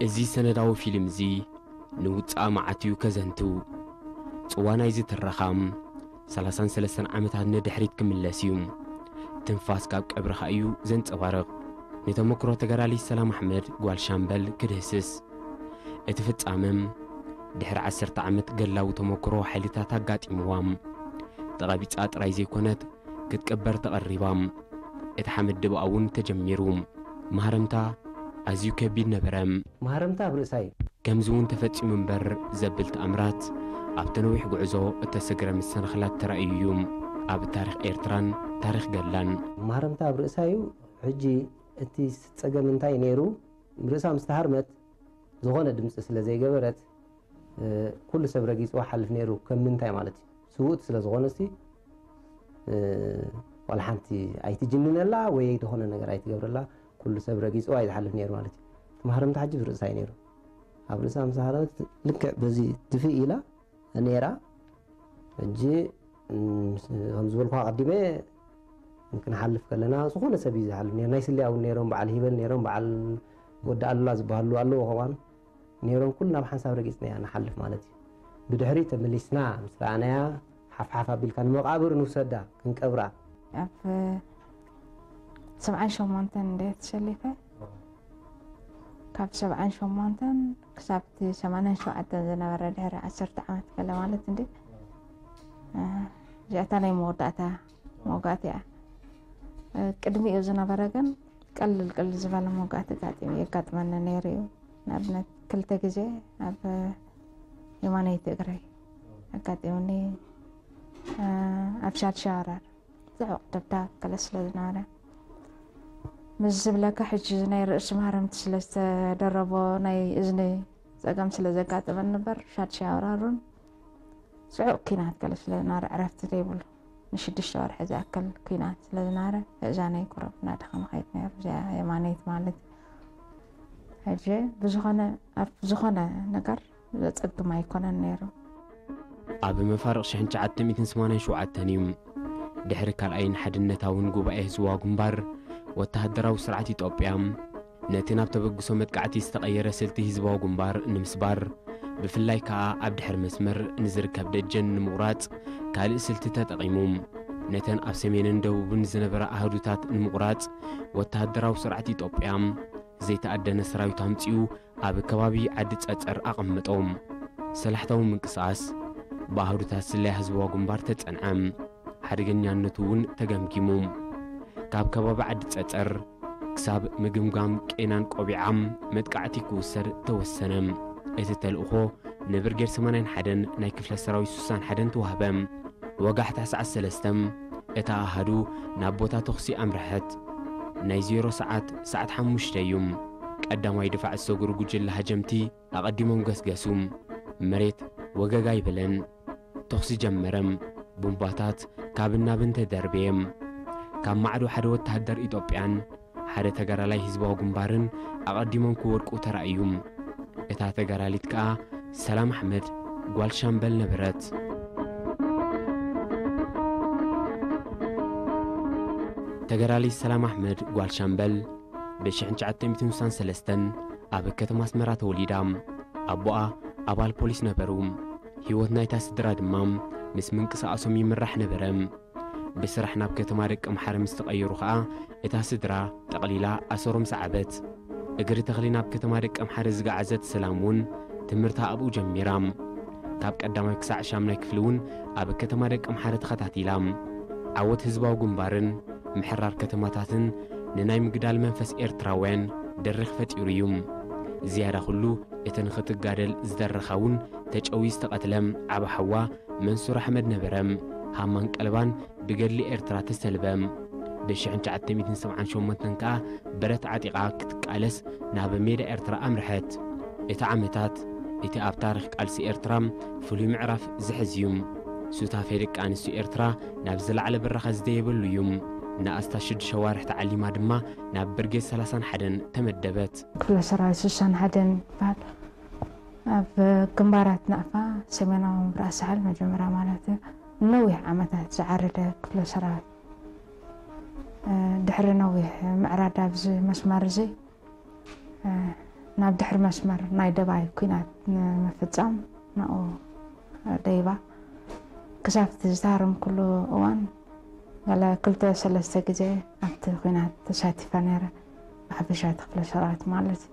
እዚ ሰነዳዊ ፊልም እዚ ንውጽኣ መዓት እዩ ከዘንቱ። ጽዋ ናይዚ ትረኻ ሰላሳን ሰለስተን ዓመታት ንድሕሪት ክምለስ እዩ። ትንፋስ ካብ ቀብርኻ እዩ ዘንጸባርቕ። ንተመክሮ ተጋዳሊት ሰላም ኣሕመድ ጓል ሻምበል ክድህስስ። እቲ ፍጻመ ድሕሪ ዓሰርተ ዓመት ገድላዊ ተመክሮ ሓይልታት ኣጋጢምዋ። ተቐቢጻ ጥራይ ዘይኮነት ክትቅበር ተቐሪባ። እቲ ሓመድ ድብኣ እውን ተጀሚሩ። ማህረምታ ኣዝዩ ከቢድ ነበረ። ማህረምታ ኣብ ርእሳ እዩ። ከምዚ እውን ተፈጺሙ እምበር ዘብል ተኣምራት ኣብቲ ነዊሕ ጉዕዞ እተሰግረ መሰናኽላት ተራእዩ እዩ። ኣብ ታሪኽ ኤርትራን ታሪኽ ገድላን። ማህረምታ ኣብ ርእሳ እዩ። ሕጂ እቲ ጸገም እንታይ ነይሩ? ርእሳ ምስ ተሃርመት ዝኾነ ድምጺ ስለ ዘይገበረት፣ እ፣ ኩሉ ሰብ ረጊጽዋ ሓልፍ ነይሩ። ከም ምንታይ ማለት እዩ? ስውእቲ ስለ ዝኾነሲ፣ እ፣ ዋላ ሓንቲ ኣይትጅንነላ ወይ ዝኾነ ነገር ኣይትገብረላ። ኩሉ ሰብ ረጊጽዋ እዩ ዝሓልፍ ነይሩ ማለት እዩ። እቲ ማህረምታ ሕጂ ብርእሳ እዩ ነይሩ። ኣብ ርእሳ ምስ ሃረመት ልክዕ በዚ ድፍእ ኢላ ነይራ። ሕጂ፣ እም፣ ከም ዝበልኩ ኣቐዲመ ክንሓልፍ ከለና ዝኾነ ሰብ እዩ ዝሓልፍ ነይሩ። ናይ ስልያ እውን ነይሮም፣ በዓል ሂበል ነይሮም፣ በዓል ወዲ ኣሉላ ዝበሃሉ ኣለዉ ከምኣን ነይሮም። ኩልና ብሓንሳብ ረጊጽና ኢና ንሓልፍ ማለት እዩ። ብድሕሪ ተመሊስና ምስ ረኣናያ ሓፍሓፍ ኣቢልካ ንመቓብር ንውሰዳ ክንቀብራ። ኣብ ሰብዓን ሸሞንተን እንደ ተሸሊፈ፣ ካብ ሰብዓን ሸሞንተን ክሳብ እቲ ሰማንያን ሸውዓተን ዝነበረ ድሕሪ ዓሰርተ ዓመት ገለ ማለት እንዲ፣ እ፣ እዚኣታ ናይ መወዳእታ መውጋእቲ እያ። እ፣ ቅድሚኡ ዝነበረ ግን ቀልል ቅልል ዝበለ መውጋእቲ ኣጋጢሙ፣ የጋጥመኒ ነይሩ እዩ። ንኣብነት ክልተ ግዜ ኣብ የማነይቲ እግረይ ኣጋጢሙኒ፣ እ፣ ኣብ ሻድሻ ወራር። ጽዑቕ ደብዳብ ገለ ስለ ዝነበረ። ምስ ዝብለካ ሕጂ ናይ ርእሲ ማህረምቲ ስለ ዝተደረቦ ናይ እዝኒ ጸገም ስለ ዘጋጠመኒ እምበር ሻድሻ ወራሩን ጽዑቕ ኲናት ገለ ስለ ዝነበረ ዕረፍቲ ዘይብሉ ንሽዱሽተ ወርሒ ዝኣክል ኲናት ስለ ዝነበረ እዛነይ ቁሩብ እናደኸመ ከይድ ነይሩ። እዚኣ የማነይት ማለት እዩ። ሕጂ ብዝኾነ፣ ኣብ ዝኾነ ነገር ዘጸግም ኣይኮነን ነይሩ። ኣብ መፋርቕ ሽሕን ትሽዓተ ሚእትን ሰማንያን ሸውዓተን እዩ። ድሕሪ ካልኣይን ሓድነታውን ጉባኤ ህዝባዊ ግንባር፣ ወተሃደራዊ ስርዓት ኢትዮጵያ ነቲ ናብ ተበግሶ መጥቃዕቲ ዝተቐየረ ስልቲ ህዝባዊ ግንባር ንምስባር፣ ብፍላይ ከኣ ኣብ ድሕሪ መስመር ንዝርከብ ደጀን ንምቑራጽ ካልእ ስልቲ ተጠቒሙ። ነተን ኣብ ሰሜንን ደቡብን ዝነበራ ኣህዱታት ንምቑራጽ፣ ወተሃደራዊ ስርዓት ኢትዮጵያ ዘይተኣደነ ሰራዊት ኣምጺኡ ኣብ ከባቢ ዓዲ ጸጸር ኣቐመጦም። ሰላሕታዊ ምንቅስቓስ ብኣህዱታት ስለያ ህዝባዊ ግንባር ተጸንዐ። ሓደገኛነቱ እውን ተገምጊሙ። ካብ ከባቢ ዓዲ ጸጸር ክሳብ ምግምጋም ቄናን ቆቢዓም መጥቃዕቲ ክውሰድ ተወሰነ። እቲ ተልእኾ ንብርጌድ ሰማንያን ሓደን ናይ ክፍለ ሰራዊት ስሳን ሓደን ተዋህበ። ወጋሕታ ሰዓት ሰለስተ እታ ኣሃዱ ናብ ቦታ ተኹሲ ኣምርሐት። ናይ ዜሮ ሰዓት፣ ሰዓት ሓሙሽተ እዩ። ቀዳማይ ድፋዕ ዝሰግሩ ጉጅለ ሃጀምቲ ኣቐዲሞም ገስገሱ። መሬት ወገግ ኣይበለን። ተኹሲ ጀመረ። ቡምባታት ካብን ናብን ተደርበየ። ካብ ማዕዶ ሓደ ወተሃደር ኢትዮጵያን ሓደ ተጋዳላይ ህዝባዊ ግንባርን ኣቐዲሞም ክወድቁ ተራእዩ። እታ ተጋዳሊት ከኣ ሰላም ኣሕመድ ጓል ሻምበል ነበረት። ተጋዳሊት ሰላም ኣሕመድ ጓል ሻምበል ብ ሽሕን ትሽዓተ ሚእትን ስሳን ሰለስተን ኣብ ከተማ ኣስመራ ተወሊዳ። ኣቦኣ ኣባል ፖሊስ ነበሩ። ህይወት ናይታ ስድራ ድማ ምስ ምንቅስቓሶም ይምራሕ ነበረ። ብስራሕ ናብ ከተማ ደቀምሓረ ምስ ተቐየሩ ኸኣ፣ እታ ስድራ ጠቕሊላ ኣሰሮም ሰዓበት። እግሪ ተኽሊ ናብ ከተማ ደቀምሓረ ዝገዓዘት ሰላም እውን ትምህርታ ኣብኡ ጀሚራ። ካብ ቀዳማይ ክሳዕ ሻምናይ ክፍሊ እውን ኣብ ከተማ ደቀምሓረ ተኸታቲላ። ዓወት ህዝባዊ ግንባርን ምሕራር ከተማታትን ንናይ ምግዳል መንፈስ ኤርትራውያን ደሪኽ ፈጢሩ እዩ። ዝያዳ ኩሉ እቲ ንኽትጋደል ዝደረኻ እውን ተጨውዩ ዝተቐትለ ዓቢ ሓዋ መንሱር ኣሕመድ ነበረ። ሃማን ቀለባን ብገድሊ ኤርትራ ተሰልበ። ብ ሽሕን ትሽዓተ ሚእትን ሰብዓን ሸሞንተን ከኣ ብረት ዓጢቓ ክትቃለስ ናብ ሜዳ ኤርትራ ኣምርሐት። እቲ ዓመታት እቲ ኣብ ታሪኽ ቃልሲ ኤርትራ ፍሉይ ምዕራፍ ዝሕዝ እዩ። ሱታፌ ደቂ ኣንስትዮ ኤርትራ ናብ ዝለዓለ ብራኸ ዝደየበሉ እዩ። ንኣስታት ሽዱሽተ ኣዋርሕ ተዓሊማ ድማ ናብ ብርጌድ ሰላሳን ሓደን ተመደበት። ክፍለ ሰራዊት ስሳን ሓደን ይበሃል። ኣብ ግንባራት ናቕፋ ሰሜናዊ ምብራቕ ሳሕል መጀመርያ ማለት እዩ። ነዊሕ ዓመታት ዝዓረደ ክፍለ ሰራዊት፣ እ፣ ድሕሪ ነዊሕ ምዕራድ ኣብዚ መስመር እዚ፣ እ፣ ናብ ድሕሪ መስመር ናይ ደባይ ኲናት ንምፍጻም ናብኡ ደይባ ክሳብ እቲ ዝተሃረምኩሉ እዋን ገለ ክልተ ሰለስተ ግዜ ኣብቲ ኲናት ተሳቲፈ ነይረ፣ ብሓፈሻ እቲ ክፍለ ሰራዊት ማለት እዩ።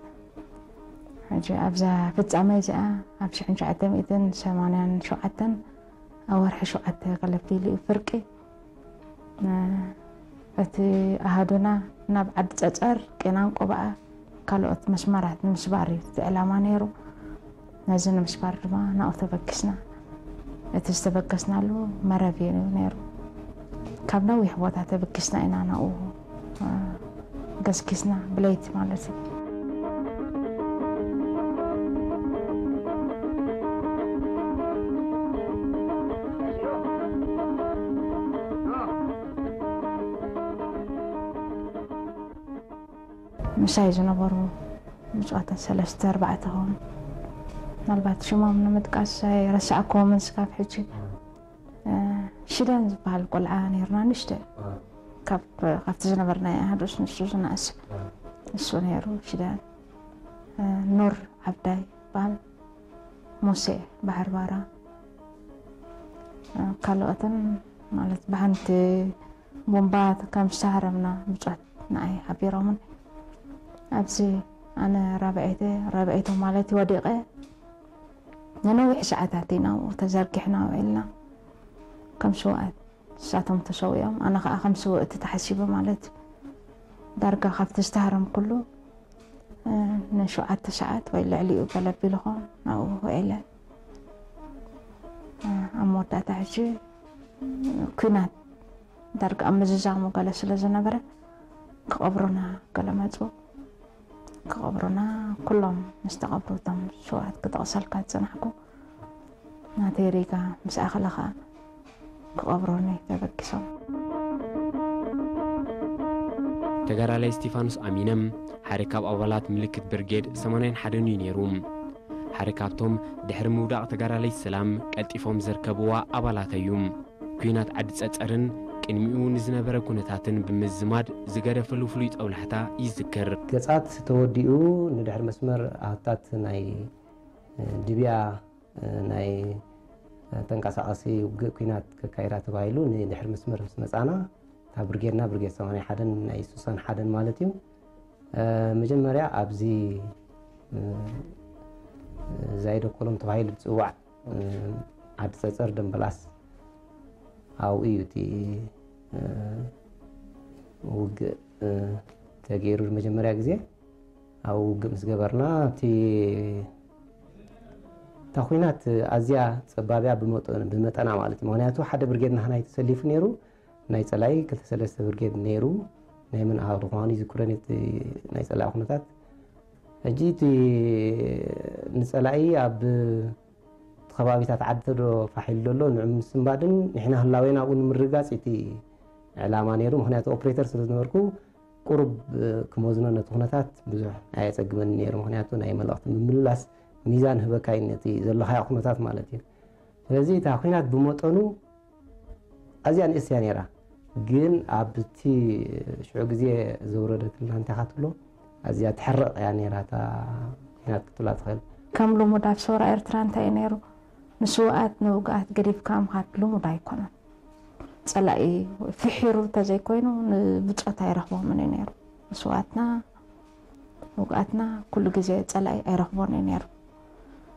ሕጂ ኣብዛ ፍጻመ እዚኣ ኣብ ሽሕን ትሽዓተ ሚእትን ሰማንያን ሸውዓተን ኣብ ወርሒ ሸውዓተ ገለ ኣቢሉ እዩ ፍርቂ። እቲ ኣሃዱና ናብ ዓዲ ጸጸር፣ ቄናን ቆባኣ ካልኦት መስመራት ንምስባር እዩ እቲ ዕላማ ነይሩ። ነዚ ንምስባር ድማ ናብኡ ተበጊስና። እቲ ዝተበገስናሉ መረብ እዩ ነይሩ። ካብ ነዊሕ ቦታ ተበጊስና ኢና ናብኡ፣ እ፣ ገስጊስና፣ ብለይቲ ማለት እዩ። ምሳይ ዝነበሩ ብፁዓት ሰለስተ ኣርባዕተ ኾኑ። ምናልባት ሽሞም ንምጥቃስ ኣይረሳዕክዎምን ስካብ ሕጂ። እ፣ ሽደን ዝበሃል ቆልዓ ነይርና፣ ንእሽተ። ካብ፣ ካብቲ ዝነበርናዮ ኣሃዱስ ንሱ ዝነኣሰ። እሱ ነይሩ፣ ሽደን። እ፣ ኑር ዓብዳይ ይበሃል። ሙሴ ባሕሪ ባራ። እ፣ ካልኦትን ማለት ብሓንቲ ቡምባ ከም ዝተሃረምና ብጾት ንዓይ ሓቢሮምን። ኣብዚ ኣነ ራብዐይቲ፣ ራብዐይቲ ማለት እዩ፣ ወዲቐ። ንነዊሕ ሰዓታት ኢና ኣብኡ ተዘርጊሕና ውዒልና። ከም ስውኣት ንሳቶም ተሰዊኦም፣ ኣነ ኸኣ ከም ስውእቲ ተሓሲበ ማለት እዩ። ዳርጋ ካብቲ ዝተሃረምኩሉ፣ እ፣ ንሸውዓተ ሰዓት ወይ ልዕሊኡ ገለ ኣቢሉ ኾን ናብኡ ውዒለ። እ፣ ኣብ መወዳእታ ሕጂ ኲናት ዳርጋ ኣብ ምዝዛሙ ገለ ስለ ዝነበረ ክቐብሩና ገለ መጹ። ክቐብሩና፣ ኩሎም ምስ ተቐብሩ እቶም ስውኣት ክጠቕሰልካ ዝጸናሕኩ ናተይ ሪጋ ምስ ኣኸለ ኸኣ ክቐብሩኒ ተበጊሶም። ተጋዳላይ እስቲፋኖስ ኣሚነ ሓደ ካብ ኣባላት ምልክት ብርጌድ ሰማንያን ሓደን እዩ ነይሩ። ሓደ ካብቶም ድሕሪ ምውዳቕ ተጋዳላይ ሰላም ቀልጢፎም ዘርከብዋ ኣባላት እዩ። ኲናት ዓዲ ጸጸርን ቅድሚኡ ንዝነበረ ኩነታትን ብምዝማድ ዝገደፈሉ ፍሉይ ጦብላሕታ ይዝክር። ገጻት ተወዲኡ ንድሕሪ መስመር ኣሃታት ናይ፣ እ፣ ድብያ፣ እ፣ ናይ ተንቀሳቐሲ ውግእ ኲናት ከካይዳ ተባሂሉ ንድሕሪ መስመር ምስ መጻና፣ እታ ብርጌድና ብርጌድ ሰማንያ ሓደን ናይ ስሳን ሓደን ማለት እዩ። እ፣ መጀመርያ ኣብዚ፣ እ፣ ዛይደ ኮሎም ተባሂሉ ዝጽዋዕ፣ እ፣ ዓዲ ጸጸር ደምበላስ ኣብኡ እዩ እቲ፣ እ፣ ውግእ፣ እ፣ ተገይሩ ንመጀመርያ ግዜ። ኣብኡ ውግእ ምስ ገበርና፣ እቲ፣ እታ ኲናት ኣዝያ ጸባብ እያ ብመጠ-፣ ብመጠና ማለት እዩ። ምኽንያቱ ሓደ ብርጌድ ናህና እዩ ተሰሊፉ ነይሩ። ናይ ጸላኢ ክልተ ሰለስተ ብርጌድ ነይሩ። ናይ መን ኣሃዱ ምዃኑ ይዝክረኒ እቲ ናይ ጸላኢ ኩነታት። ሕጂ እቲ ንጸላኢ ኣብ እቲ ከባቢታት ዓዲ ተዶ ፋሕ ኢሉ ዘሎ ንዑ ምስንባድን ንሕና ህላዌና ኣብኡ ንምርግጋጽ እቲ ዕላማ ነይሩ። ምኽንያቱ ኦፕሬተር ስለ ዝነበርኩ ቁሩብ፣ እ፣ ክመዝኖ ነቲ ኩነታት ብዙሕ ኣየጸግመኒ ነይሩ። ምኽንያቱ ናይ መልእኽቲ ምምልላስ ሚዛን ህበካ እዩ ነቲ ዘለኻዮ ኩነታት ማለት እዩ። ስለዚ እታ ኲናት ብመጠኑ ኣዝያ ንእስ እያ ነይራ። ግን ኣብቲ ሽዑ ግዜ ዘውረደትና እንታይ ኢኻ ትብሎ፣ ኣዝያ ትሕርቕ እያ ነይራ እታ ኲናት ክትብላ ትኽእል። ከም ልሙድ ኣብ ሰውራ ኤርትራ እንታይ እዩ ነይሩ? ንስውኣት ንውግኣት ገዲፍካ ምኻድ ልሙድ ኣይኮነን። ጸላኢ ፍሒሩ እንተዘይኮይኑ ንብጾት ኣይረኽቦምን እዩ ነይሩ። ንስውኣትና ውግኣትና ኩሉ ግዜ ጸላኢ ኣይረኽቦን እዩ ነይሩ።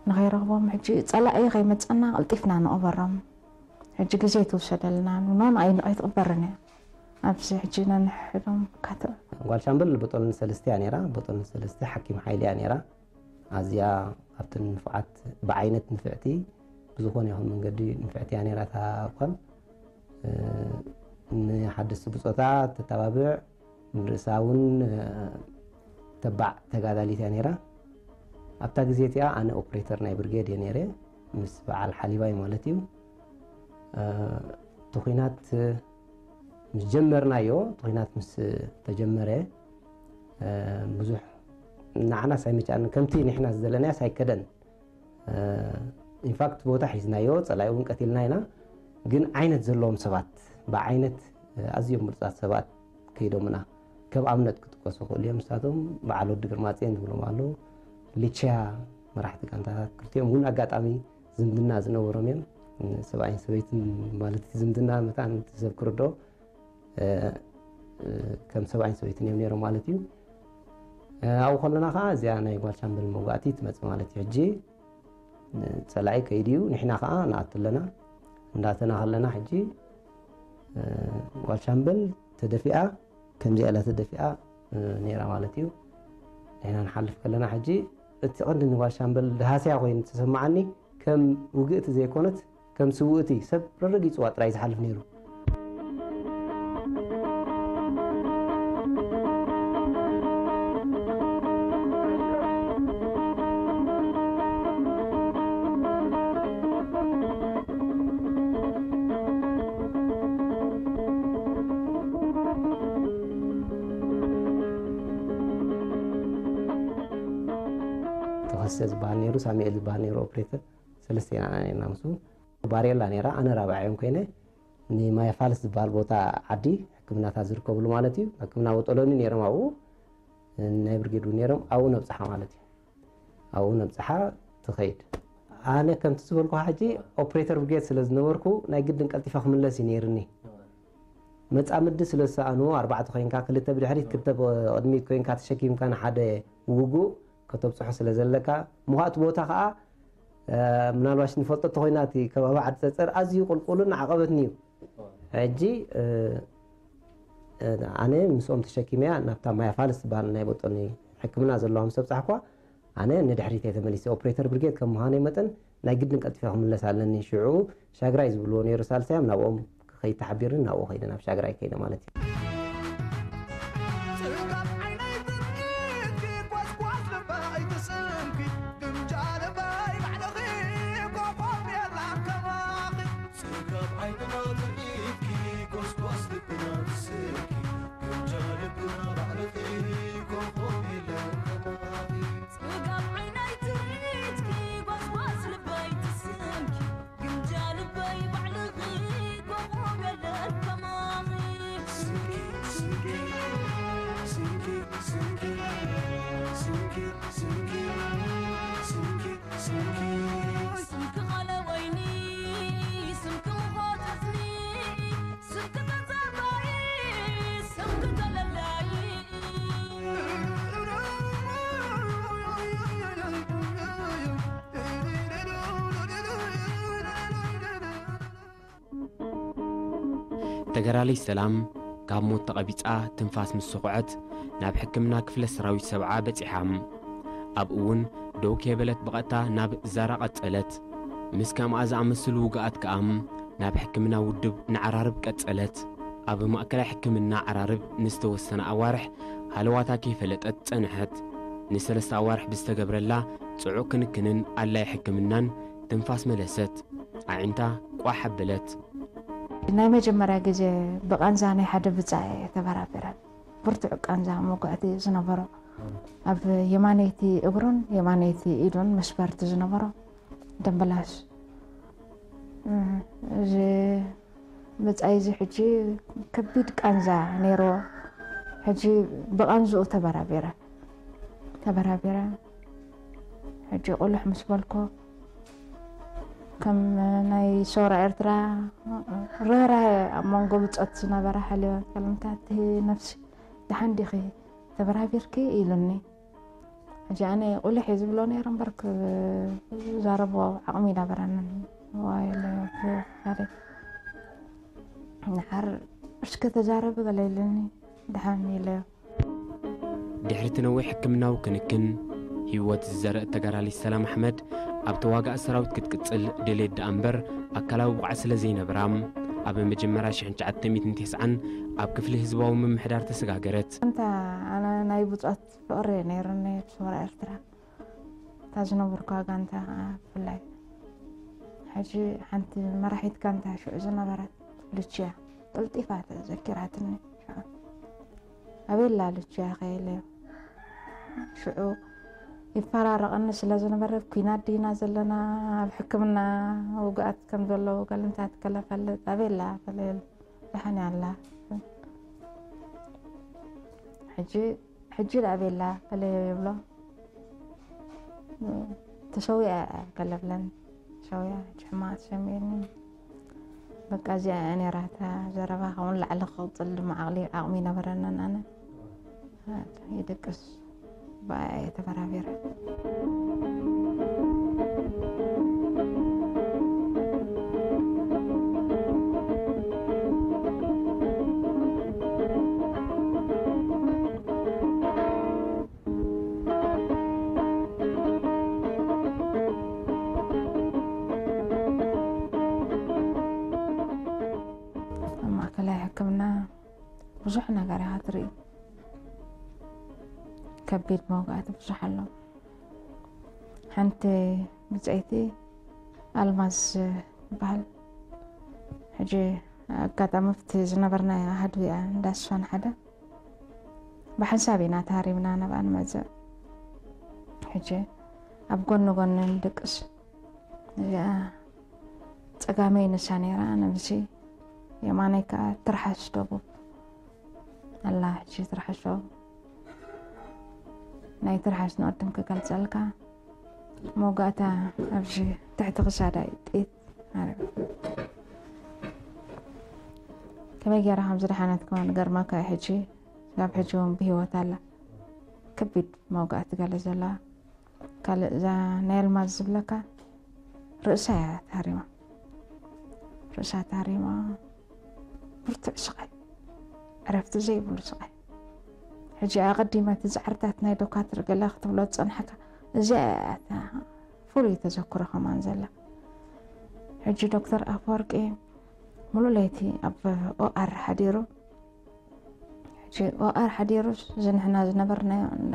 ንኸይረኽቦም ሕጂ ጸላኢ ከይመጸና ቀልጢፍና ንቕበሮም። ሕጂ ግዜ ትውሰደልና፣ ኖ ንኣይ ንቕሕት ቅበርን እያ። ኣብዚ ሕጂ ነንሕዶም ካትዕ። ጓል ሻምበል ቦጦልን ሰለስተ እያ ነይራ። ቦጦልን ሰለስተ ሓኪም ሓይሊ እያ ነይራ። ኣዝያ ካብተን ንፉዓት ብዓይነት ንፍዕቲ፣ ብዝኾነ ይኹን መንገዲ ንፍዕቲ እያ ነይራ። እታ ጓል፣ እ፣ ንሓደስቲ ብጾታ ተተባብዕ፣ ንርእሳ እውን፣ እ፣ ተባዕ ተጋዳሊት እያ ነይራ። ኣብታ ግዜ እቲኣ ኣነ ኦፕሬተር ናይ ብርጌድ እየ ነይረ፣ ምስ በዓል ሓሊባይ ማለት እዩ። እ፣ እቲ ኲናት ምስ ጀመርናዮ፣ እቲ ኲናት ምስ ተጀመረ፣ እ፣ ብዙሕ ንዓናስ ኣይመጫንን፣ ከምቲ ንሕና ዝደለናዮስ ኣይከደን። እ፣ ኢንፋክት ቦታ ሒዝናዮ፣ ጸላኢ እውን ቀቲልና ኢና። ግን ዓይነት ዘለዎም ሰባት፣ ብዓይነት፣ እ፣ ኣዝዮም ብሉጻት ሰባት ከይዶምና። ከም ኣብነት ክጥቀሱ ይኽእሉ እዮም። ንሳቶም በዓል ወዲ ግርማጽዮን ዝብሎም ኣለዉ። ልችያ መራሕቲ ጋንታታት ክልቲኦም እውን ኣጋጣሚ ዝምድና ዝነበሮም እዮም። ሰብኣይን ሰበይትን ማለት እቲ ዝምድና መታን እቲ ሰብ ክርድኦ፣ እ፣ እ፣ ከም ሰብኣይን ሰበይትን እዮም ነይሮም ማለት እዩ። እ፣ ኣብኡ ከለና ከዓ እዚኣ ናይ ጓል ሻምበል መውጋእቲ ትመጽእ ማለት እዩ። ሕጂ፣ እ፣ ጸላኢ ከይዱ እዩ፣ ንሕና ከዓ ንኣቱ ኣለና። እንዳተና ከለና ሕጂ፣ እ፣ ጓል ሻምበል ተደፊኣ፣ ከምዚኣ ኢላ ተደፊኣ፣ እ፣ ነይራ ማለት እዩ። ንሕና ንሓልፍ ከለና ሕጂ እቲ ቀንዲ ንጓል ሻምበል ደሃስያ ኮይኑ ተሰማዓኒ፣ ከም ውግእቲ ዘይኮነት፣ ከም ስውእቲ ሰብ ረረጊጽዋ ጥራይ ዝሓልፍ ነይሩ። ተኸስተ ዝበሃል ነይሩ፣ ሳሙኤል ዝበሃል ነይሩ ኦፕሬተር። ሰለስተ ኢና ነርና ምስኡ። ባሬላ ነይራ፣ ኣነ ራብዓዮም ኮይነ፣ ንማያ ፋልስ ዝበሃል ቦታ ዓዲ ሕክምናታት ዝርከብሉ ማለት እዩ። ሕክምና ወጠሎኒ ነይሮም ኣብኡ፣ ናይ ብርጌድ እውን ነይሮም፣ ኣብኡ ነብፅሓ ማለት እዩ። ኣብኡ ነብፅሓ ትኸይድ። ኣነ ከምቲ ዝበልኩ ሕጂ ኦፕሬተር ብርጌድ ስለ ዝነበርኩ ናይ ግድን ቀልጢፈ ክምለስ እዩ ነይርኒ። መጻምዲ ስለ ዝሰኣኑ ኣርባዕተ ኮይንካ ክልተ ብድሕሪት ክልተ ቅድሚት ኮይንካ ተሸኪምካ ንሓደ ውጉእ ከተብፅሖ ስለ ዘለካ ምዃእቲ ቦታ ከዓ እ፣ ምናልባሽ ንፈልጦ እንተኾይና እቲ ከባቢ ዓዲ ፀፀር ኣዝዩ ቁልቁልን ዓቐበትን እዩ። ሕጂ እ፣ እ፣ ኣነ ምስኦም ተሸኪመያ ናብታ ማያ ፋልስ ዝበሃል ናይ በጦኒ ሕክምና ዘለዋ ምስ ኣብፃሕኳ ኣነ ንድሕሪት እየ ተመሊሰ። ኦፕሬተር ብርጌድ ከም ምዃነይ መጠን ናይ ግድን ቀልጢፈ ክምለስ ኣለኒ። ሽዑ ሻግራይ ዝብልዎ ነይሩ ሳልሳዮም ናብኦም ክኸይድ ተሓቢርኒ ናብኡ ከይደ ናብ ሻግራይ ከይደ ማለት እዩ። ጽጋብ ዓይነይ ትርኢትኪ ጓስጓስ ልበይ ትስምኪ ግምጃ ልበይ ባዕልኺ ኮኾብ የላን ከማኺ። ጽጋብ ዓይንና ትርኢትኪ ጓስጓስ ልብና ትስምኪ ግምጃ ልብና ባዕልኺ ኮኾብ የለን ከማኺ። ጽጋብ ዓይነይ ትርኢትኪ ጓስጓስ ልበይ ትስምኪ ግምጃ ልበይ ባዕልኺ ኮኾብ የለን ከማኺ። ስምኪ፣ ስምኪ፣ ስምኪ፣ ስምኪ፣ ስምኪ፣ ስምኪ፣ ስምኪ፣ ስምኪ። ስምኪ ቃለ ወይኒ፣ ስምኪ ውሃ ጠስኒ፣ ስምኪ ተዛራቢ፣ ስምኪ ተለላይ። ተጋዳሊት ሰላም ካብ ሞት ተቐቢጻ ትንፋስ ምስ ሰኹዐት ናብ ሕክምና ክፍለ ሰራዊት ሰብዓ በጺሓ። ኣብኡ እውን ደው ከይበለት ብቐጥታ ናብ ዛራ ቀጸለት። ምስ ከምኣ ዝኣመሰሉ ውግኣት ከኣ ናብ ሕክምና ውድብ ንዓራርብ ቀጸለት። ኣብ ማእከላይ ሕክምና ዓራርብ ንዝተወሰነ ኣዋርሕ ሃለዋታ ከይፈለጠት ጸንሐት። ንሰለስተ ኣዋርሕ ብዝተገብረላ ጽዑቕ ክንክንን ኣድላይ ሕክምናን ትንፋስ መለሰት። ኣዒንታ ቋሕ ኣበለት። ናይ መጀመርያ ግዜ ብቃንዛ ናይ ሓደ ብጻ እየ ተበራቢረ። ብርቱዕ ቃንዛ መውጋእቲ ዝነበሮ። ኣብ የማነይቲ እግሩን የማነይቲ ኢዱን መስበርቲ ዝነበሮ ደምበላሽ። እ፣ እዚ ብጻይ እዚ ሕጂ ከቢድ ቃንዛ ነይርዎ። ሕጂ ብቃንዝኡ ተበራቢረ። ተበራቢረ። ሕጂ ቁልሕ ምስ በልኮ፣ ከም ናይ ሰውራ ኤርትራ ርህራሄ ኣብ መንጎ ብጾት ዝነበረ ሓልዮ፣ ከልምታት ነፍሲ፣ "ደሓን ዲኺ? ተበራቢርኪ?" ኢሉኒ። ሕጂ ኣነ ቁልሕ እየ ዝብሎ ነይረ እምበር ክዛረቦ ዓቕሚ ኣይነበረንን። ዋይ፣ ለ-፣ ሓደ፣ "ንሓር እስከ ተዛረቢ" ገለ ኢሉኒ። ደሓን ኢለዮ። ድሕሪ እቲ ነዊሕ ሕክምናዊ ክንክን፣ ህይወት ዝዘረእ ተጋዳሊት ሰላም ኣሕመድ ኣብ ተዋጋኢ ሰራዊት ክትቅጽል ድሌት ደኣ እምበር ኣካላዊ ብቕዓት ስለ ዘይነበራ፣ ኣብ መጀመርያ ሽሕን ትሽዓተ ሚእትን ተስዓን ኣብ ክፍሊ ህዝባዊ ምምሕዳር ተሰጋገረት። እንታ ኣነ ናይ ብጾት ፍቕሪ ነይሩኒ ብሰውራ ኤርትራ። እታ ዝነበርኩዋ ጋንታ ከዓ ብፍላይ። ሕጂ ሓንቲ መራሒት ጋንታ ሽዑ ዝነበረት ልችያ ቀልጢፋ ተዘኪራትኒ። ሽዑ ኣበላ ልችያ ከይለዮ ሽዑ ይፈራረቐኒ ስለ ዝነበረ፣ ኣብ ኲናት ዲና ዘለና፣ ኣብ ሕክምና ውግኣት ከም ዘለዉ ገልምታት ከለፈልጥ፣ ኣበላ ፈለየሉ። ደሓን እያ ኣላ። ሕጂ፣ ሕጂ ደኣ ኣበላ ፈለዮ ይብሎ። ተሰዊኣ እያ ከለብለን። ሰውያ ሕጂ ሕማቕ ተሰሚዕኒ። በቃ እዚኣ እያ ነይራ እታ ዘረባ። ካብኡ ንላዕሊ ክቕጽል ድማ ዓቕሊ፣ ዓቕሚ ይነበረንን ኣነ። ይድቅስ ብኣያ እየ ተበራቢረ። ኣብ ማእከላይ ሕክምና ብዙሕ ነገር ኢኻ ትርኢ። ከቢድ መውጋእቲ ብዙሕ ኣሎ። ሓንቲ ብጸይቲ ኣልማዝ ትበሃል። ሕጂ ኣጋጣሚ ኣብቲ ዝነበርናዮ ኣሃዱ እያ እንዳ ስፋን ሓደ ብሓንሳብ ኢና ተሃሪምና ናብኣ ንመጽእ። ሕጂ ኣብ ጎኒ ጎኒ ንድቅስ። እዚኣ ጸጋመይ ንሳ ነይራ፣ ኣነ ምሲ የማነይ ከኣ ትርሓስ ደቡብ ኣላ። ሕጂ ትርሓስ ደቡብ፣ ናይ ትርሓስ ንቕድም ክገልጸልካ፣ መውጋእታ ኣብዚ ትሕቲ ክሳዳ እዩ ጥይት ዓረብ። ከመይ ገይራ ከም ዝደሓነት ከማን ገርመካ እዩ። ሕጂ፣ ስጋብ ሕጂ እውን ብህይወት ኣላ። ከቢድ መውጋእቲ ገለ ዘለዋ። ካልእ እዛ ናይ ኣልማዝ ዝብለካ ርእሳ እያ ተሃሪማ። ርእሳ ተሃሪማ፣ ብርቱዕ ስቓይ፣ ዕረፍቲ ዘይብሉ ስቓይ። ሕጂ ኣቐዲመ እቲ ጻዕርታት ናይ ዶካትር ገለ ክትብሎ ዝጸንሐካ፣ እዚኣ እያ እታ ፍሉይ ተዘክሮ ከማን ዘላ። ሕጂ ዶክተር ኣፈወርቂ ሙሉእ ለይቲ ኣብ ኦኣር ሓዲሩ። ሕጂ ኦኣር ሓዲሩስ፣ እዚ ንሕና ዝነበርናዮ እንዳ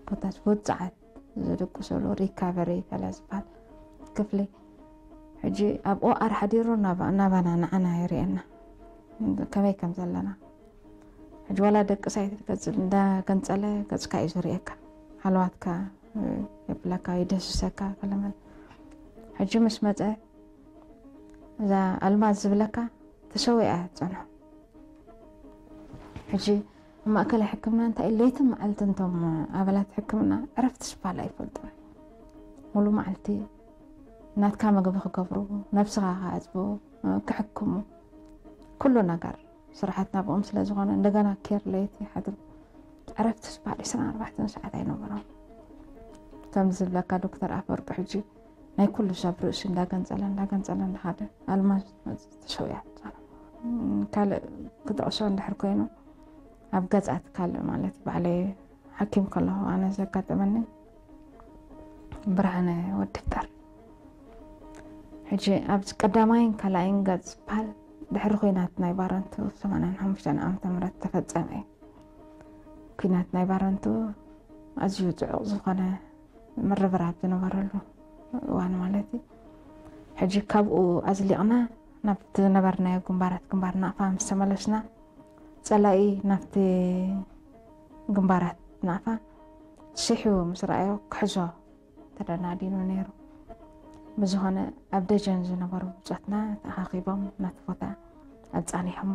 ኮታስ ውጽዓት ዝድቅስሉ ሪካቨሪ ከለ ዝበሃል ክፍሊ፣ ሕጂ ኣብ ኦኣር ሓዲሩ ናባ-፣ ናባና ንዓና የርእየና ከመይ ከም ዘለና። ሕጂ ዋላ ደቅስ ኣይትገጽል፣ እንዳገንጸለ ገጽካ እዩ ዝርእየካ። ሃለዋትካ የብለካ፣ ይደስሰካ ከለመን። ሕጂ ምስ መጸ፣ እዛ ኣልማዝ ዝብለካ ተሰዊኣ እያ ትጸንሖ። ሕጂ ኣብ ማእከላይ ሕክምና እንታይ እዩ፣ ለይትን መዓልትን እቶም ኣባላት ሕክምና ዕረፍቲ ዝበሃል ኣይፈልጡን። ሙሉ መዓልቲ ናትካ ምግቢ ክገብሩ፣ ነብስኻ ክዓጽቡ፣ ክሕክሙ፣ ኩሉ ነገር ስራሓት ናብኦም ስለ ዝኾነ፣ እንደገና ኬር ለይቲ ሓድሩ ዕረፍቲ ዝበሃል ዕስራን ኣርባዕተን ሰዓት ኣይነበሮም። ከም ዝብለካ ዶክተር ኣፈወርቂ ሕጂ ናይ ኩሉ ሰብ ርእሲ እንዳገንጸለ፣ እንዳገንጸለ እንዳሃደ ኣልማዝ ተሰዊኣ። ካልእ ክጠቕሶ እንድሕር ኮይኑ፣ ኣብ ገጻት ካልእ ማለት ባዕለይ ሓኪም ከለኹ ኣነ ዘጋጠመኒ ብርሃነ ወዲ ፍጠር። ሕጂ ኣብዚ ቀዳማይን ካልኣይን ገጽ ዝበሃል ድሕሪ ኲናት ናይ ባረንቱ ሰማንያን ሓሙሽተን ዓመተ ምህረት ተፈጸመ እዩ። ኲናት ናይ ባረንቱ ኣዝዩ ጽዑቕ ዝኾነ ምርብራብ ዝነበረሉ እዋን ማለት እዩ። ሕጂ ካብኡ ኣዝሊቕና ናብቲ ዝነበርናዮ ግንባራት፣ ግንባር ናቕፋ ምስ ተመለስና፣ ጸላኢ ናብቲ ግንባራት ናቕፋ ስሒቡ ምስ ረኣዮ ክሕዞ ተደናዲኑ ነይሩ። ብዝኾነ ኣብ ደጀን ዝነበሩ ብጾትና ተኣኻኺቦም ናቲ ቦታ ኣጻኒሖሞ።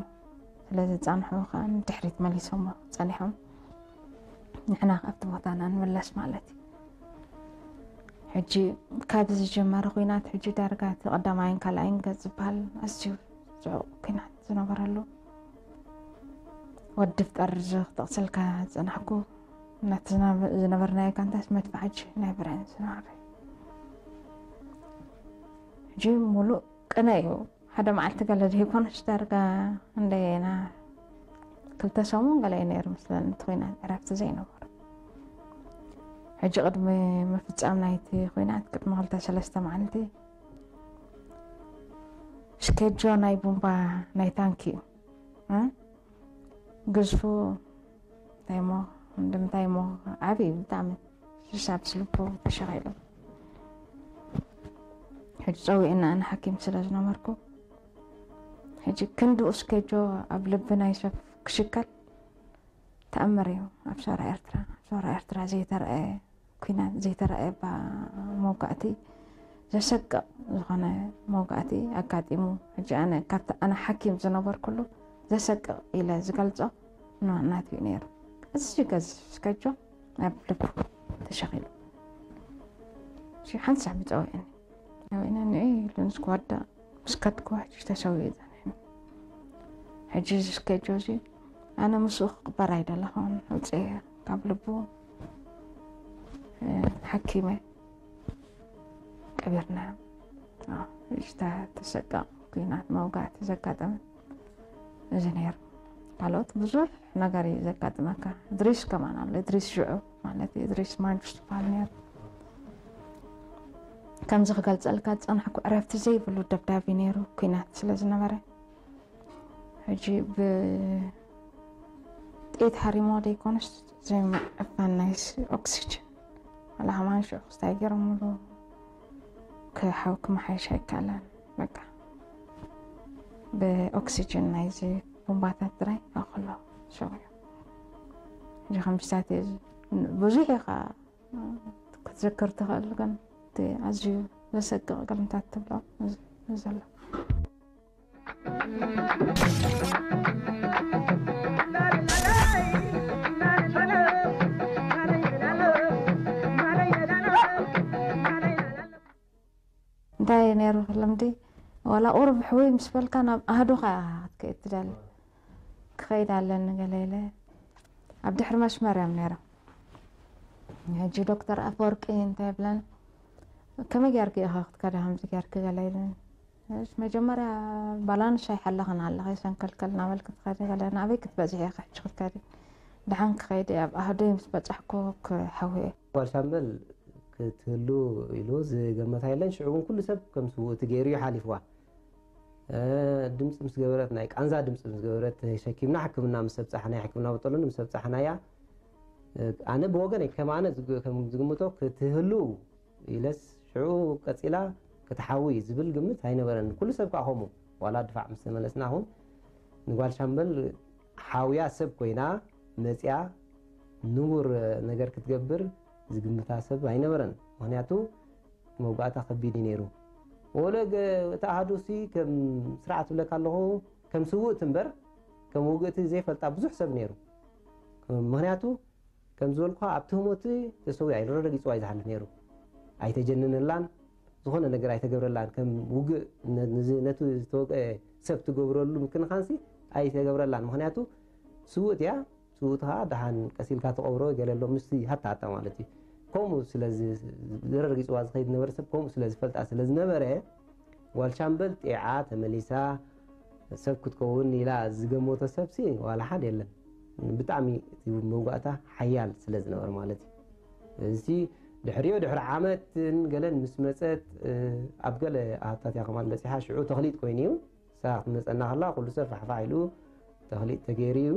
ስለ ዘጻንሕዎ ከኣ ንድሕሪት መሊሶሞ ጸኒሖም። ንሕና ኣብቲ ቦታና ንምለስ ማለት እዩ። ሕጂ ካብ ዝጀመረ ኲናት ሕጂ ዳርጋ እቲ ቀዳማይን ካልኣይን ገጽ ዝበሃል ኣዝዩ ጽዑቕ ኲናት ዝነበረሉ ወዲ ፍጠር እዚ ክጠቕሰልካ ዝጸናሕኩ፣ ነቲ ዝናብ-፣ ዝነበርናዮ ጋንታስ መድፍዓጅ ናይ ብሬን ዝነበረ። ሕጂ ሙሉእ ቅነ እዩ። ሓደ መዓልቲ ገለ ዘይኮነስ ዳርጋ እንደና ክልተ ሰሙን ገለ እዩ ነይሩ ምስለን እቲ ኲናት ዕረፍቲ ዘይነበሮ። ሕጂ ቅድሚ ምፍጻም ናይቲ ኲናት ቅድሚ ክልተ ሰለስተ መዓልቲ ስኬጆ ናይ ቡምባ ናይ ታንኪ እዩ። እ? ግዝፉ እንታይ እሞ፣ እንድምታይ እሞ፣ ዓብዪ ብጣዕሚ። ሽሻብ ስልፖ ተሸኺሉ። ሕጂ ጸዊዕና ኣነ ሓኪም ስለ ዝነበርኩ፣ ሕጂ ክንድኡ ስኬጆ ኣብ ልቢ ናይ ሰብ ክሽከል ተኣምር እዩ። ኣብ ሰውራ ኤርትራ፣ ኣብ ሰውራ ኤርትራ ዘይተረኣየ ኲናት፣ ዘይተረኣየ ባ-፣ መውጋእቲ፣ ዘሰቅቕ ዝኾነ መውጋእቲ ኣጋጢሙ። ሕጂ ኣነ ካብቲ ኣነ ሓኪም ዝነበርኩሉ ዘሰቅቕ ኢለ ዝገልጾ ና-፣ ናቱ እዩ ነይሩ። እዚ ገዝፍ ስኬጆ ኣብ ልቡ ተሸኺሉ። ሕጂ ሓንቲ ሳዕ ብፀዊዕኒ። ፀዊዕኒ ንዒ ኢሉ ምስ ክወድቕ፣ ምስ ከድክዎ ሕጂ ተሰዊኡ ጸኒሑ። ሕጂ እዚ ስኬጆ እዚ ኣነ ምስኡ ክቕበር ኣይደለኹን። ኣውፅኤ ካብ ልቡ፣ እ፣ ሓኪመ ቀቢርናዮ። ኣዎ፣ ሕጂ እታ ተሰቀቕ ኲናት መውጋእቲ ዘጋጠመ እዚ ነይሩ። ካልኦት ብዙሕ ነገር እዩ ዘጋጥመካ። እድሪስ ከማን ኣሎ። እድሪስ ሽዑ ማለት እዩ። እድሪስ ማንጁስ ዝበሃል ነይሩ። ከምዚ ክገልጸልካ ዝጸናሕኩ ዕረፍቲ ዘይብሉ ደብዳቢ ነይሩ፣ ኲናት ስለ ዝነበረ። ሕጂ ብጥይት ሃሪሞ ደይኮነስ ዘይምዕፋን ናይ ስ-፣ ኦክሲጅን። ዋላ ከማን ሽዑ ክስታይ ገይሮምሉ ክሓው ክመሓየሽ ኣይከኣለን። በቃ ብኦክሲጅን ናይዚ ቡምባታት ጥራይ ኣኽሎ ሰው እዩ። ሕጂ ከምዚታት እዩ። ብዙሕ ኢኻ ክትዝክር ትኽእል፣ ግን እቲ ኣዝዩ ዘሰቅቕ ግርምታት ትብሎ እዚ፣ እዚ ዘሎ። እንታይ ነይሩ ልምዲ? ዋላ ቁሩብ ሕውይ ምስ በልካ ናብ ኣህዱኻ ክትከይድ ትደሊ። ክኸይድ ኣለኒ ገለ ኢለ ኣብ ድሕሪ መስመር እዮም ነይሮም። ሕጂ ዶክተር ኣፈወርቂ እንታይ ይብለን? ከመይ ጌርኪ ኢኻ ክትከዲ ከምዚ ጌርኪ ገለ ኢለን። እሺ፣ መጀመርያ ባላንስ ኣይሓለኽን ኣለኺ፣ ሰንከልከል እናበልኪ ትኸዲ ገለ፣ ናበይ ክትበጽሒ ኢኺ ሕጂ ክትከዲ? ደሓን ክኸይድ እየ፣ ኣብ ኣህደይ ምስ በጻሕኩ ክሓዊ እየ። ጓል ሻምበል ክትህሉ ኢሉ ዝገመታ የለን። ሽዑ እውን ኩሉ ሰብ ከም ስውእቲ ገይሩ እዩ ሓሊፍዋ። እ፣ ድምፂ ምስ ገበረት፣ ናይ ቃንዛ ድምፂ ምስ ገበረት፣ ተሸኪምና ሕክምና ምስ ኣብፃሕናያ፣ ሕክምና በጠሉን ምስ ኣብፃሕናያ፣ እ፣ ኣነ ብወገነይ ከም ኣነ ዝግ-፣ ከም ዝግምቶ ክትህሉ ኢለስ ሽዑ ቀፂላ ክትሓዊ ዝብል ግምት ኣይነበረን። ኩሉ ሰብ ከዓ ከምኡ፣ ዋላ ድፋዕ ምስ ተመለስና እውን ንጓል ሻምበል ሓውያ ሰብ ኮይና መፅያ ንቡር ነገር ክትገብር ዝግምታ ሰብ ኣይነበረን። ምኽንያቱ መውጋእታ ከቢድ እዩ ነይሩ። ወለ ገ-፣ እቲ ኣሃዱሲ ከም ስርዓት ብለካ ኣለኹ፣ ከም ስውእቲ እምበር ከም ውግእቲ ዘይፈልጣ ብዙሕ ሰብ ነይሩ። ምኽንያቱ ከም ዝበልኩኻ ኣብቲ ህሞት ተሰዊኣ ኢሉ ረጊፅዋ እዩ ዝሓልፍ ነይሩ። ኣይተጀነነላን፣ ዝኾነ ነገር ኣይተገብረላን። ከም ውግእ ነ-፣ ንዚ-፣ ነቲ ዝተወግአ ሰብ ትገብረሉ ምክንኻንሲ ኣይተገብረላን። ምኽንያቱ ስውእት እያ። ስውእቲ ኸዓ ደሓን ቀስ ኢልካ ትቐብሮ ገለ ኣሎ፣ ምስቲ ሃታ ሃታ ማለት እዩ። ከምኡ ስለ ዝ-፣ ረጊፅዋ ዝኸይድ ዝነበረ ሰብ ከምኡ ስለ ዝፈልጣ ስለ ዝነበረ፣ ጓል ሻምበል ጢዓ ተመሊሳ ሰብ ክትከውን ኢላ ዝገመቶ ሰብሲ ዋላ ሓደ የለን። ብጣዕሚ እቲ መውጋእታ ሓያል ስለ ዝነበረ ማለት እዩ። እዚ ድሕሪኡ ድሕሪ ዓመትን ገለን ምስ መፀት፣ እ፣ ኣብ ገለ ኣሃታት እያ ከማን በፂሓ፣ ሽዑ ተኽሊጥ ኮይኑ እዩ። ንሳ ክትመፀና ከላ ኩሉ ሰብ ፋሕፋሕ ኢሉ ተኽሊጥ ተገይሩ እዩ።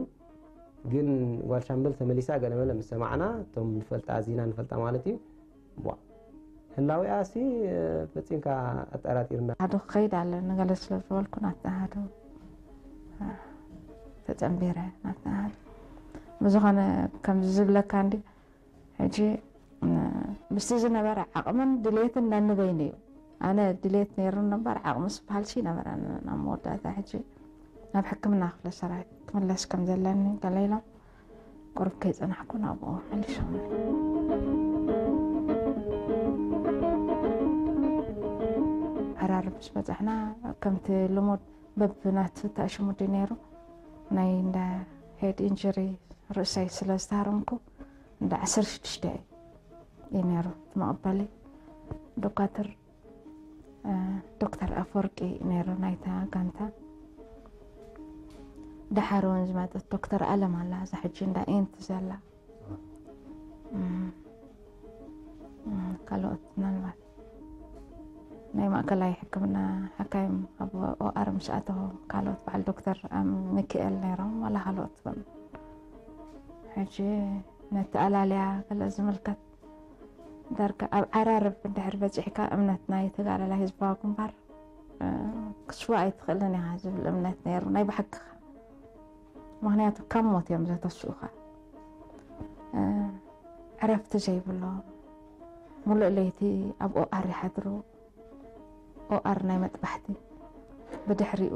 ግን ጓል ሻምበል ተመሊሳ ገለመለ ምስ ሰማዕና፣ እቶም ንፈልጣ፣ ኣዚና ንፈልጣ ማለት እዩ። ቧ፣ ህላዊኣሲ፣ እ፣ ፈጺምካ ኣጠራጢርና። ኣዱ ክኸይድ ኣለኒ ገለ ስለ ዝበልኩ ናብቲ ኣሃዱ፣ እ፣ ተጸንቢረ ናብቲ ኣሃዱ። ብዝኾነ ከምዚ ዝብለካ እንዲ፣ ሕጂ፣ እ፣ ምስቲ ዝነበረ ዓቕምን ድሌትን ነንበይኑ እዩ። ኣነ ድሌት ነይሩኒ እምበር ዓቕሚ ዝበሃልሲ ይነበረንን። ኣብ መወዳእታ ሕጂ ናብ ሕክምና ክፍለ ሰራዊት ክምለስ ከም ዘለኒ ገለ ኢሎም ቁሩብ ከይጸናሕኩ ናብኡ መሊሶምኒ። ዓራርብ ምስ በጻሕና ከምቲ ልሙድ በብናቱ ተኣሽሙ ድዩ ነይሩ፣ ናይ እንዳ ሄድ ኢንጅሪ ርእሰይ ስለ ዝተሃረምኩ እንዳ ዓሰርተ ሽዱሽተ እዩ ነይሩ እቲ መቐበሊ። ዶካትር፣ እ፣ ዶክተር ኣፈወርቂ ነይሩ ናይታ ጋንታ። ደሓር እውን ዝመጸት ዶክተር ኣለም ኣላ፣ እዛ ሕጂ እንዳ ኤንቲ ዘላ። እም፣ እም፣ ካልኦት ምናልባት ናይ ማእከላይ ሕክምና ሓካይም ኣብ ኦኣር ምስ ኣተኹ፣ ካልኦት በዓል ዶክተር ኣም-፣ ሚካኤል ነይሮም፣ ዋላ ካልኦት እውን። ሕጂ ነቲ ኣላልያ ገለ ዝምልከት ዳርጋ ኣብ ዓራርብ እንድሕር በጺሕካ እምነት ናይ ተጋዳላይ ህዝባዊ ግንባር፣ እ፣ ክትስዋእ ኣይትኽእልን ኢኻ ዝብል እምነት ነይሩ፣ ናይ ብሓቂ። ምኽንያቱ ካብ ሞት እዮም ዘተስኡኻ። እ፣ ዕረፍቲ ዘይብሎም፣ ሙሉእ ለይቲ ኣብ ኦኣር ይሓድሩ። ኦኣር ናይ መጥባሕቲ፣ ብድሕሪኡ፣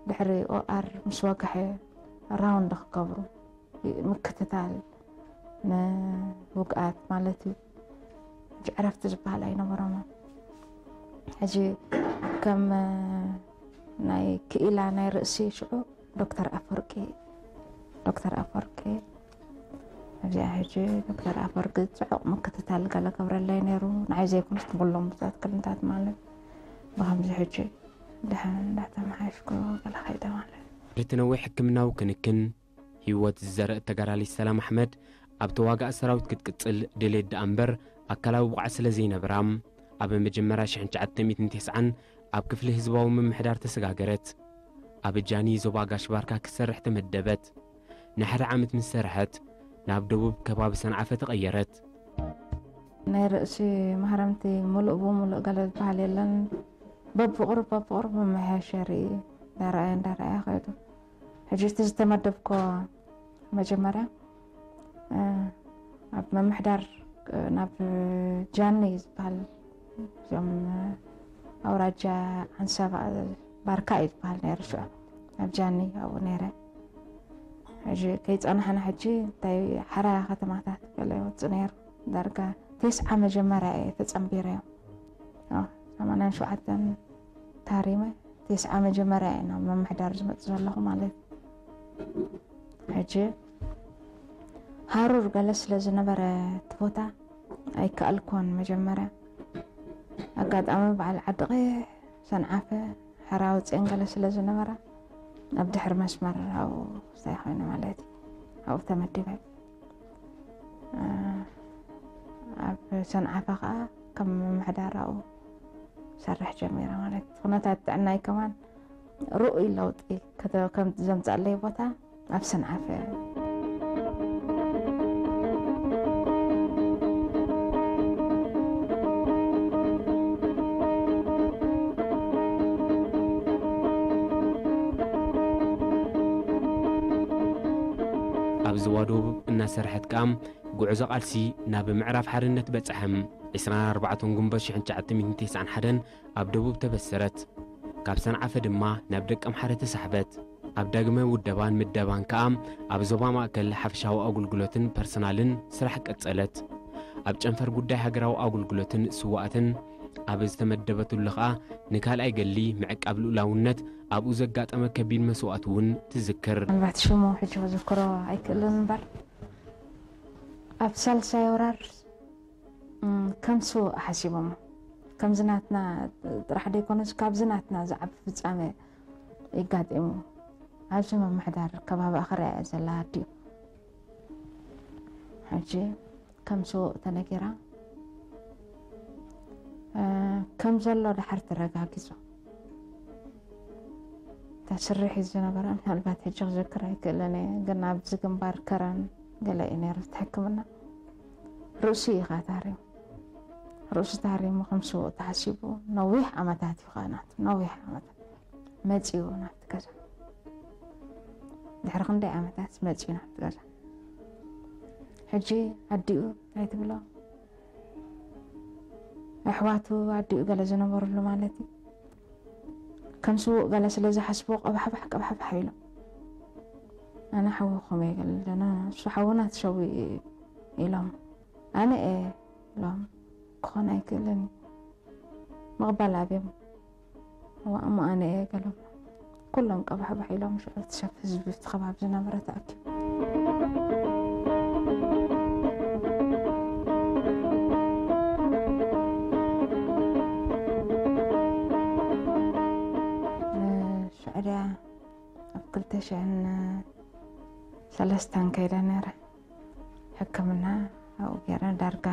ድሕሪ ኦኣር ምስ ወግሐ ራውንድ ክገብሩ፣ ምክትታል ንውግኣት ማለት እዩ። ዕረፍቲ ዝበሃል ኣይነበሮምን። ሕጂ ከም ናይ ክኢላ ናይ ርእሲ ሽዑ ዶክተር ኣፈወርቂ ዶክተር ኣፈወርቂ ኣብዚኣ ሕጂ ዶክተር ኣፈወርቂ ጽዑቕ ምክትታል ገለ ገብረለይ ነይሩ። ንዓይ ዘይኮነስ ንኩሎም ብዙሓት ክልንታት ማለት ብኸምዚ ሕጂ ድሓን እንዳተመሓየሽኩ ገለ ከይደ ማለት። ድሕሪ ነዊሕ ሕክምናዊ ክንክን ህይወት ዝዘረእ ተጋዳሊት ሰላም ኣሕመድ ኣብ ተዋጋእ ሰራዊት ክትቅጽል ድሌት ደኣ እምበር ኣካላዊ ብቕዓት ስለ ዘይነበራ ኣብ መጀመርያ ሽሕን ትሽዓተ ሚእትን ተስዓን ኣብ ክፍሊ ህዝባዊ ምምሕዳር ተሰጋገረት። ኣብ ጃኒ ዞባ ጋሽ ባርካ ክትሰርሕ ተመደበት። ንሓደ ዓመት ምስ ሰርሐት ናብ ደቡብ ከባቢ ሰንዓፈ ተቐየረት። ናይ ርእሲ ማህረምቲ ሙሉእ ብሙሉእ ገለ ዝበሃል የለን። በብቑሩብ በብቑሩብ መመሓየሸ ርኢ እንዳረኣየ እንዳረኣየ ከይዱ። ሕጂ እቲ ዝተመደብኮ መጀመርያ ኣብ ምምሕዳር ናብ ጃኒ ዝበሃል እዞም ኣውራጃ ዓንሰባ ባርካ እዩ ዝበሃል ነይሩ ሽዑ ኣብ ጃኒ ኣብኡ ነይረ። ሕጂ ከይፀናሕና ሕጂ እንታይ ሓራ ከተማታት ገለ ይወፅእ ነይሩ። ዳርጋ ቴስዓ መጀመርያ እየ ተፀንቢረ እዮም ሰማንያን ሸውዓተን ታሪመ ቴስዓ መጀመርያ እየ ናብ ምምሕዳር ዝመፅእ ዘለኹ ማለት እዩ። ሕጂ ሃሩር ገለ ስለ ዝነበረ እቲ ቦታ ኣይከኣልኩን መጀመርያ ኣጋጣሚ በዓል ዓዲ ቀይሕ ሰንዓፈ ሕራዊ ፅን ገለ ስለ ዝነበራ ኣብ ድሕሪ መስመር ኣብኡ እንታይ ኮይነ ማለት እዩ ኣብኡ ተመዲበ ኣብ ሰንዓፈ ከዓ ከም ምምሕዳር ኣብኡ ሰርሕ ጀሚረ ማለት እዩ ኩነታት ጥዕናይ ከማን ርኡይ ለውጢ ከም ዘምፀኣለይ ቦታ ኣብ ሰንዓፈ ኣብ ዝዋዶብ እናሰርሐት ከኣ ጉዕዞ ቃልሲ ናብ ምዕራፍ ሓርነት በጽሐ። ዕስራን ኣርባዕተን ጉንበት ሽሕን ትሽዓተ ሚእትን ተስዓን ሓደን ኣብ ደቡብ ተበሰረት። ካብ ሰንዓፈ ድማ ናብ ደቀምሓረ ተሳሕበት። ኣብ ዳግመ ውደባን ምደባን ከኣ ኣብ ዞባ ማእከል ሓፈሻዊ ኣገልግሎትን ፐርሰናልን ስራሕ ቀጸለት። ኣብ ጨንፈር ጉዳይ ሃገራዊ ኣገልግሎትን ስዋኣትን ኣብ ዝተመደበትሉ ከኣ ንካልኣይ ገሊ ምዕቃብ ልኡላውነት ኣብኡ ዘጋጠመ ከቢድ መስዋእቲ እውን ትዝክር። ምናልባት ሽሙ ሕጂ ክዝክሮ ኣይክእልን እምበር ኣብ ሳልሳይ ወራር ከም ስውእ ሓሲቦሞ ከምዚ ናትና ጥራሕ ደይኮነስ ካብዚ ናትና ዝዓቢ ፍጻመ ይጋጢሙ ኣብዚ ምምሕዳር ከባቢ ኣኸርያ እያ ዘላ ኣዲኡ ሕጂ ከም ስውእ ተነጊራ ከም ዘሎ ድሓር ተረጋጊጹ እታ ስርሒት ዝነበረ ምናልባት ሕጂ ክዝክር ኣይክእልን እየ ግን ኣብዚ ግንባር ከረን ገለ እዩ ነይሩ እቲ ሕክምና ርእሱ እዩ ከዓ ታሪሙ ርእሱ ታሪሙ ከም ስውእ ተሓሲቡ ነዊሕ ዓመታት እዩ ከዓ ናቱ ነዊሕ ዓመታት መፂኡ ናብቲ ገዛ ድሕሪ ክንደይ ዓመታት መፂኡ ናብቲ ገዛ ሕጂ ኣዲኡ እንታይ ትብሎ ኣሕዋቱ ኣዲኡ ገለ ዝነበርሉ ማለት እዩ ከም ስውእ ገለ ስለ ዝሓስቦ ቀባሕባሕ ቀባሕባሕ ኢሎም ኣነ ሓወኹም እየ ገለ ኣለና እሱ ሓውና ተሰዊኡ እዩ ኢሎም ኣነ እየ ኢሎም ክኾን ኣይክእልን እዩ ምቕባል ኣብዮም እሞ ኣነ እየ ገሎም ኩሎም ቀባሕባሕ ኢሎም ሽዑ እቲ ሰብ ህዝቢ እቲ ከባቢ ዝነበረ ተኣኪቡ ሽዑ ድያ ኣብ ክልተ ሽሕን ሰለስተን ከይደ ነይረ ሕክምና ኣብኡ ገይረ ዳርጋ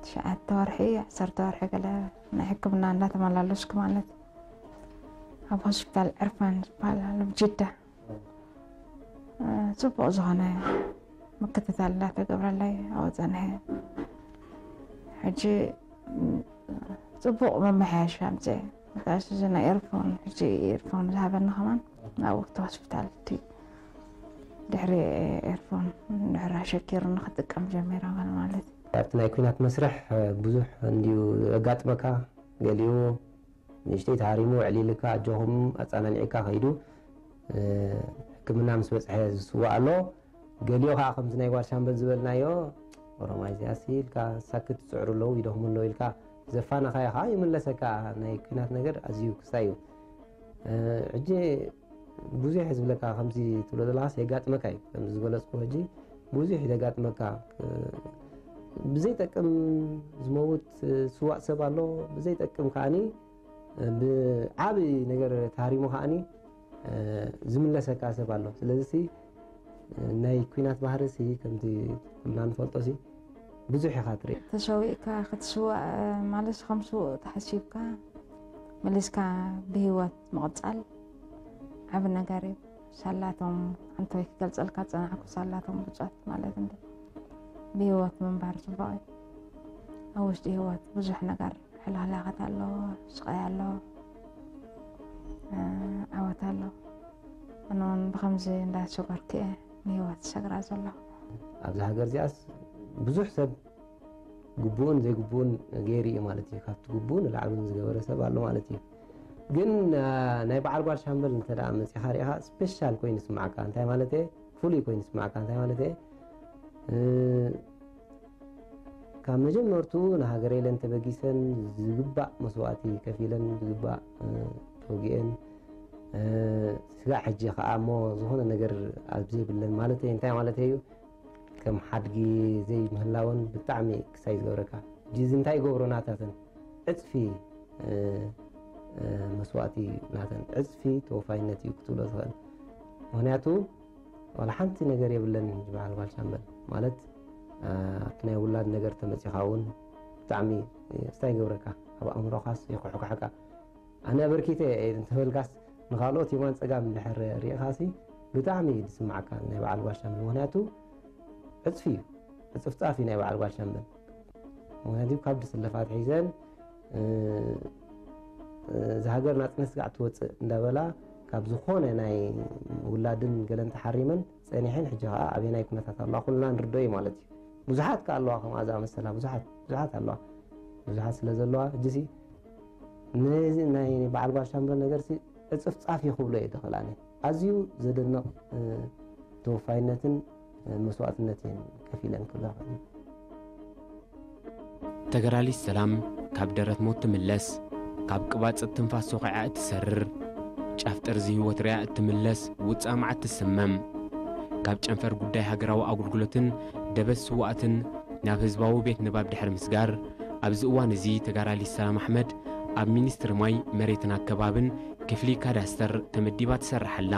ትሽዓተ ወርሒ ዓሰርተ ወርሒ ገለ ናይ ሕክምና እንዳተመላለስኩ ማለት ኣብ ሆስፒታል ዕርፋን ዝበሃል ኣሎ ጅዳ ፅቡቕ ዝኾነ ምክትታል እንዳተገብረለይ ኣብኡ ፀንሐ ሕጂ ፅቡቕ መመሓየሻ ኣምፅአ መታሽ እዚ ናይ ኤርፎን ሕጂ ኤርፎን ዝሃበኒ ከማን ናብኡ እቲ ሆስፒታል እቲ ድሕሪ ኤርፎን ድሕሪ ኣሸኪሩ ንክጥቀም ጀሚረ ማለት እዩ ኣብቲ ናይ ኩናት መስርሕ ብዙሕ እንድዩ ዘጋጥመካ ገሊኡ ንእሽተይ ተሃሪሙ ዕሊልካ ኣጆኹም ኣፃናኒዕካ ከይዱ ሕክምና ምስ በፅሐ ዝስዋእ ኣሎ ገሊኡ ከዓ ከምዚ ናይ ጓል ሻምበል ዝበልናዮ ኦሮማይ እዚኣ ሲ ኢልካ ሳክት ትፅዕሩ ኣለዉ፣ ይደኽሙ ኣለዉ ኢልካ ዘፋነኻዮ ከዓ ይምለሰካ። ናይ ኲናት ነገር ኣዝዩ ክስታይ እዩ። ሕጂ ብዙሕ ዝብለካ ከምዚ ትብሎ ዘለኻስ የጋጥመካ እዩ። ከምዚ ዝገለፅኩ ሕጂ ብዙሕ እዩ ዘጋጥመካ። ብዘይጠቅም ዝመውት ስዋእ ሰብ ኣሎ፣ ብዘይጠቅም ከዓኒ ብዓቢ ነገር ተሃሪሙ ከዓኒ ዝምለሰካ ሰብ ኣሎ። ስለዚ ናይ ኲናት ባህሪ ሲ ከምቲ ኩልና ንፈልጦ ሲ ብዙሕ ኢኻ ትርኢ። ተሸዊእካ ክትስዋእ ማለት ከም ስዉእ ተሓሲብካ መሊስካ ብህይወት ምቕጻል ዓቢ ነገር እዩ። ሳላቶም ኣንቶይ ክገልጸልካ ዝጸናሕኩ ሳላቶም ብጾት ማለት እንዲ ብህይወት ምንባር ጽቡቕ እዩ። ኣብ ውሽጢ ህይወት ብዙሕ ነገር ሕልኽላኻት ኣሎ፣ ስቓይ ኣሎ፣ ዓወት ኣሎ። ኣነ እውን ብኸምዚ እንዳሸገርኩ እየ ንህይወት ዝሸግራ ዘለኹ። ኣብዚ ሃገር እዚኣስ ብዙሕ ሰብ ግቡእን ዘይግቡእን ገይሩ እዩ ማለት እዩ። ካብቲ ግቡእ ንላዕሊ እውን ዝገበረ ሰብ ኣሎ ማለት እዩ። ግን ናይ በዓል ጓል ሻምበል እንተ ደኣ መጺኻ ርኢኻ ስፔሻል ኮይኑ ይስምዓካ። እንታይ ማለት እየ? ፍሉይ ኮይኑ ይስምዓካ። እንታይ ማለት እየ? ካብ መጀመርትኡ ንሃገረ ኢለን ተበጊሰን ዝግባእ መስዋእቲ ከፊለን ዝግባእ ተወጊአን ስጋዕ ሕጂ ከዓ እሞ ዝኾነ ነገር ኣብ ዘይብለን ማለት እንታይ ማለት እዩ? ከም ሓድጊ ዘይምህላወን ብጣዕሚ ክሳይ ዝገብረካ። ሕጂ እዚ እንታይ ይገብሮ ናታተን ዕፅፊ መስዋእቲ ናተን ዕፅፊ ተወፋይነት እዩ ክትብሎ ትኽእል። ምክንያቱ ዋላ ሓንቲ ነገር የብለን። በዓል ጓል ሻምበል ማለት ናይ ውላድ ነገር ተመፂኻ እውን ብጣዕሚ ስታይ ይገብረካ፣ ኣብ ኣእምሮኻስ ይኩሕኩሐካ። ኣነ ኣበርኪተ እየ እንተበልካስ ንካልኦት የማን ፀጋም እንድሕር ርኢኻሲ ብጣዕሚ እዩ ዝስማዓካ ናይ በዓል ጓል ሻምበል። ምክንያቱ ዕፅፊ እዩ፣ ዕፅፍፃፍ እዩ ናይ በዓል ጓል ሻምበል። ምክንያቱ ካብ ድስለፋት ሒዘን እዚ ሃገር ናፅነት ስጋዕ ትወፅእ እንዳበላ ካብ ዝኾነ ናይ ውላድን ገለን ተሓሪመን ፀኒሐን ሕጂ ከዓ ኣበየናይ ኩነታት ኣለዋ ኩልና ንርዶ እዩ ማለት እዩ። ብዙሓት ከዓ ኣለዋ ከምኣ ዝኣመሰላ ብዙሓት ብዙሓት ኣለዋ። ብዙሓት ስለ ዘለዋ ሕጂሲ ነዚ ናይ በዓል ጓል ሻምበል ነገርሲ ዕፅፍፃፍ እዩ ክብሎ እየ ተኽእላኒ። ኣዝዩ ዘደንቕ ተወፋይነትን መስዋእትነት እየን ከፊለን ክብላ ተገራሊስ ሰላም ካብ ደረት ሞት ትምለስ፣ ካብ ቅባጽ ትንፋስ ሶኺዓ እትሰርር፣ ጫፍ ጠርዚ ህይወት ርያ እትምለስ ውጻእ መዓት ትስመም፣ ካብ ጨንፈር ጉዳይ ሃገራዊ ኣገልግሎትን ደበት ስዋእትን ናብ ህዝባዊ ቤት ንባብ ድሕሪ ምስጋር፣ ኣብዚ እዋን እዚ ተጋራሊት ሰላም ኣሕመድ ኣብ ሚኒስትሪ ማይ፣ መሬትን ኣከባብን ክፍሊ ካዳስተር ተመዲባ ትሰርሕ ኣላ።